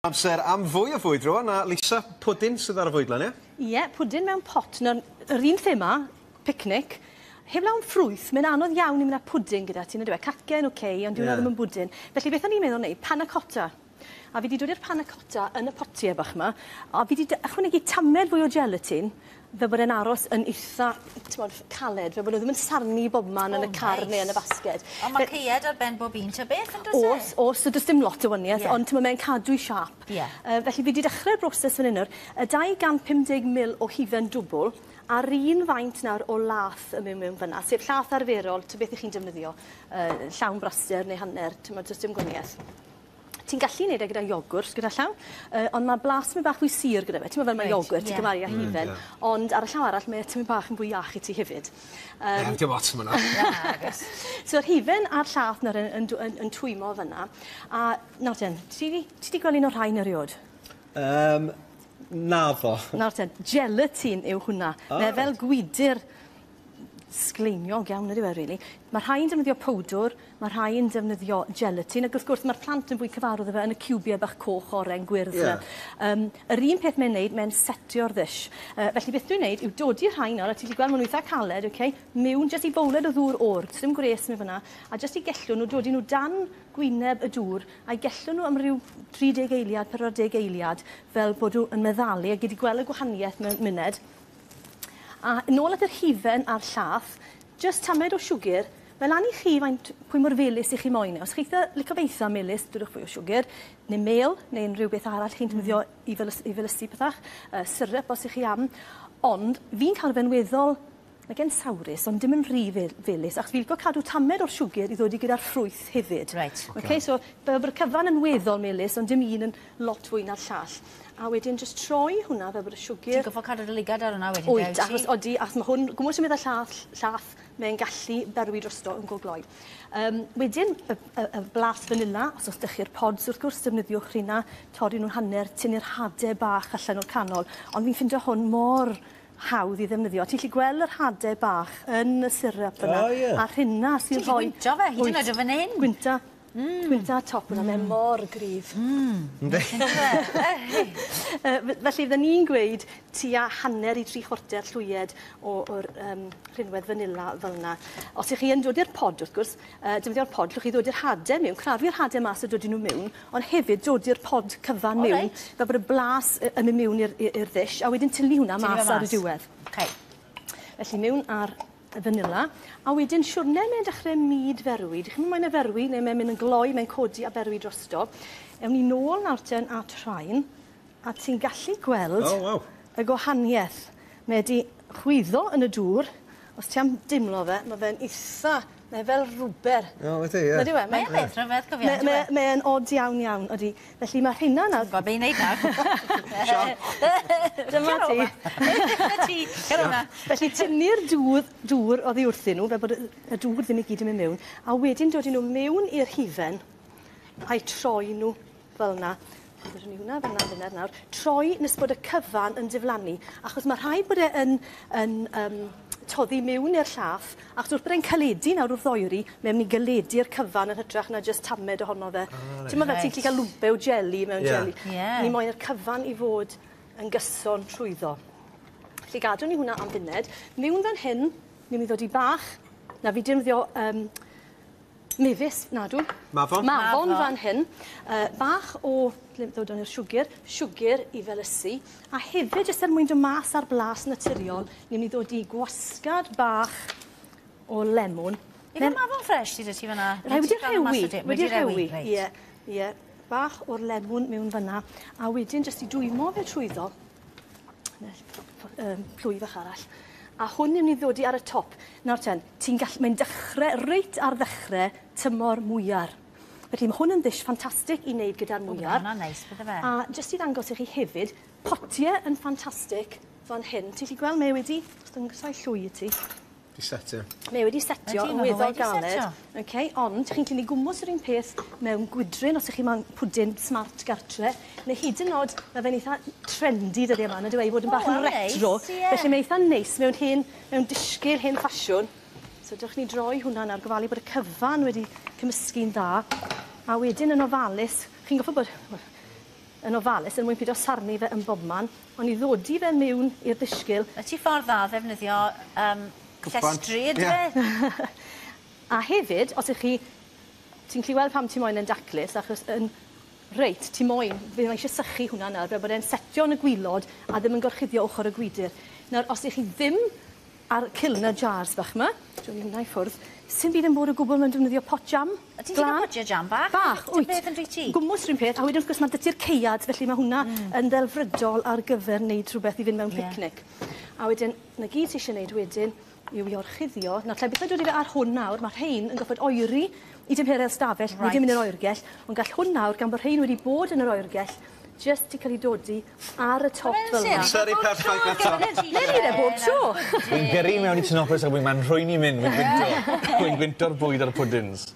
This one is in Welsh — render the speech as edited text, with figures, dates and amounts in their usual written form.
Amser am fwy o fwyd rwan, a Lisa, pwdin sydd ar y fwydlen, ie? Ie, pwdin mewn pot. Nawr, yr un thema, picnic, heblaw am ffrwyth, mae'n anodd iawn i mynd â pwdin gyda ti, nag yw e? Cacen, oce, okay, ond dyw hwnna ddim yn bwdin. Felly beth o'n i'n meddwl wneud, panna cotta. A fi 'di dod i'r panna cotta yn y potie bach 'ma, a fi 'di ychwanegu tamed fwy o gelatin, fel bod e'n aros yn itha, t'mod, caled, fel bod nhw ddim yn sarnu bobman yn y car neu yn y basged. Ond mae caead ar ben bob un ta beth yn does e? O's, o's, so does dim lot o wanieth, ond t'mod mae'n cadw'i siâp. Felly fi 'di dechrau'r broses fan 'yn nawr, y 250 ml o hufen dwbwl, a'r un faint nawr o lath yn mynd mewn fynna, sef llath arferol, ta beth 'ych chi'n defnyddio, llawn braster neu hanner, t'mod, does dim gwanieth. Ti'n gallu neud e gyda iogwrt gyda llaw, ond ma' blas myn' bach fwy sur gyda fe. T'mo' fel ma' iogwrt ti'n cymharu â hufen. Ond ar y llaw arall mae e tymed bach yn fwy iach i ti hefyd. Dim ots am wnna. Nagos. So'r hufen a'r llath nawr yn yn dw- yn yn twymo fyn 'na. A nawr ten, ti 'di ti 'di gweld un o'r rhain eriod? Naddo. Nawr ten, gelatin yw hwnna. O reit. Mae fel gwydyr sgleiniog iawn ydyw e rili. Ma' rhai yn defnyddio powdwr, ma' rhai yn defnyddio gelatin ac wrth gwrs ma'r plant yn fwy cyfarwydd â fe yn y ciwbie bach coch, oren, gwyrdd 'na. Yr un peth mae'n neud mae'n setio'r ddish. Felly beth dwi'n neud yw dodi rhain nawr a ti 'llu gweld ma' nw itha caled oce miwn jyst i bowled o ddŵr o'r, dim gwres mewn fyn 'na a jyst i gellw nw dodi nw dan gwyneb y dŵr a'i gellw nw am ryw 30 eiliad, 40 eiliad fel bod nw yn meddalu a gei di gweld y gwahanieth mewn muned. A nôl at yr hufen a'r llath, jyst tamed o siwgr, mae lan i chi faint, pwy mor felys 'ych chi moyn e. Os chi itha, lico fe itha melys, dodwch fwy o siwgr, neu mêl, neu unrhyw beth arall chi'n defnyddio i felys- i felysu pethach, syrup os 'ych chi am. Ond fi'n cael fe'n weddol, nag e'n sawrus, ond dim yn rhy felys, achos fi lico cadw tamed o'r siwgr i ddod i gyda'r ffrwyth hefyd. Oce, so fel bod y cyfan yn weddol melys, ond dim un yn lot fwy na'r llall. A wedyn jyst troi hwnna fel bod y siwgr... Ti'n gorffod cadw dy lygad ar hwnna wedyn de, wyt? Achos odi, achos ma' hwn, gwmws sy'n mynd â llath, llath, mae'n gallu berwi drosto yn go gloi. Wedyn, y blas vanilla, os o's 'dych chi'r pods wrth gwrs, defnyddiwch rheina, torri nhw'n hanner, tynnu'r hade bach allan o'r canol, ond fi'n ffindo hwn mor hawdd i ddefnyddio. Ti'n gallu gweld yr hade bach yn y syrup yna. O, ie. A rheina sy'n Ti'n gallu rhoi... gwynto fe, hyd yn oed o fan hyn. Gwynta. Gwynta top hwnna, mae mor gryf. Yndi. Felly fydden ni'n gweud tua hanner i 3/4 llwyed o'r rhinwedd vanilla fel yna. Os ych chi yn dod i'r pod wrth gwrs, defnyddio'r pod, llwch chi ddod i'r hade mewn, crafu'r hade mas a dod nhw mewn, ond hefyd dod i'r pod cyfan mewn, fel bod y blas yn mynd mewn i'r ddish, a wedyn tynnu hwnna mas ar y diwedd. Felly mewn ar y vanilla, a wedyn siwrne mae'n dechrau myd ferwi. Dych chi'n moyn e ferwi, neu mae'n mynd yn gloi, mae'n codi a berwi drosto. Ewn ni nôl nawr ten at rhain, a ti'n gallu gweld y gwahaniaeth. Mae wedi chwyddo yn y dŵr. Os ti am dimlo fe, mae fe'n itha, mae fel rwber. O, ydy, ie. Nag yw e? Mae'n beth rhyfedd, cofio, on'd yw e? Mae'n od iawn, iawn, ydy. Felly mae rheina nawr... Ti'n gwybod be i wneud nawr. Dyma ti. Dyma ti. Cer o'na. Felly tynnu'r dŵr oddi wrthyn nhw, fel bod y dŵr ddim i gyd yn mynd mewn, a wedyn dod nhw mewn i'r hufen, a'i troi nhw fel yna. Byddwn ni hwnna fel yna funud nawr. Troi nes bod y cyfan yn diflannu, achos mae rhaid bod e yn toddi mewn i'r llath, achos wrth bod e'n caledu nawr wrth oeri, mae'n mynd i galedu'r cyfan yn hytrach na jyst tamed ohono fe. Ti'n meddwl fel ti'n gallu cael lwmpe o jeli mewn jeli. Ni moyn yr cyfan i fod yn gyson trwyddo. Felly gadwn ni hwnna am funud. Mewn fan hyn, ni'n mynd i ddod i bach. Na fi defnyddio mefus, nadw. Mafon. Mafon fan hyn. Bach o, lle ddod o'n i'r siwgr, siwgr i felysu. A hefyd, jyst er mwyn dod mas ar blas naturiol, ni'n mynd i ddod i gwasgad bach o lemwn. Yw e mafon ffres sydd 'da ti fan'na? Rai wedi rhewi, wedi rhewi. Reit. Ie, ie. Bach o'r lemwn mewn fan'na. A wedyn jyst i dwymo fe trwyddo, plwy fach arall. A hwn ni'n mynd i ddodi ar y top. Nawr ten, mae'n dechrau, reit ar ddechrau tymor mwyar. Felly mae hwn yn ddish ffantastig i wneud gyda'r O, mwyar. hwnna'n neis, bydde fe. A jyst i ddangos i chi hefyd, potie yn ffantastig fan hyn. Ti'n gallu gweld mae wedi, os dangosai llwy i ti. Di setio. Mae wedi setio Ydi, yn ma' fe weddol wedi galed. setio. Okay, ond chi'n gallu gwmws yr un peth mewn gwydryn os ych chi moyn pwdin smart gartre, neu hyd yn oed, mae fe'n eitha trendy dyddiau yma, nad yw e, i fod yn O, bach yn wel, neis, retro. ie. Felly mae eitha neis mewn disgyl hen ffasiwn. So dewch ni droi hwnna nawr, gofalu bod y cyfan wedi cymysgu'n dda. A wedyn yn ofalus, chi'n gorfod bod, wel, yn ofalus er mwyn pido sarnu fe yn bobman, ond i ddodi fe mewn i'r ddisgyl. Y ti ffordd dda ddefnyddio Cwpan. llestri yndyfe? Ie. A hefyd, os 'ych chi ti'n gallu weld pam ti moyn e'n daclus, achos yn reit, ti moyn, fe mae eisiau sychu hwnna nawr, fel bod e'n setio yn y gwilod a ddim yn gorchuddio ochr y gwydyr. Nawr, os 'ych chi ddim ar Kilner jars bach 'ma, dwi'n hwnna i ffwrdd, sim byd yn bod o gwbl mewn defnyddio pot jam. A ti'n gallu potiau jam bach? Bach, Dim wyt. beth yn dwyt ti? Gwmws rhywun peth, a wedyn wrth gwrs ma' 'dy ti'r caead, felly ma' hwnna yn ddelfrydol ar gyfer wneud rhywbeth i fynd mewn picnic. A wedyn, 'na gyd ti isie wneud wedyn yw i orchuddio. Nawr, lle byth yn dod i fe ar hwn nawr, mae rhain yn goffod oeri i dymheredd stafell, right. Nid yn mynd i'r oergell, ond gall hwn nawr, gan bod rhain wedi bod yn yr oergell, jyst i cael ei dodi ar y top fel yna. Amseru perffaith eto. Newn ni fe bob tro. Wy'n gyrru mewn i Tinopolis a wy'n ma'n rhwy'n i mynd, wy'n gwynto. Wy'n gwynto'r bwyd a'r pwdins.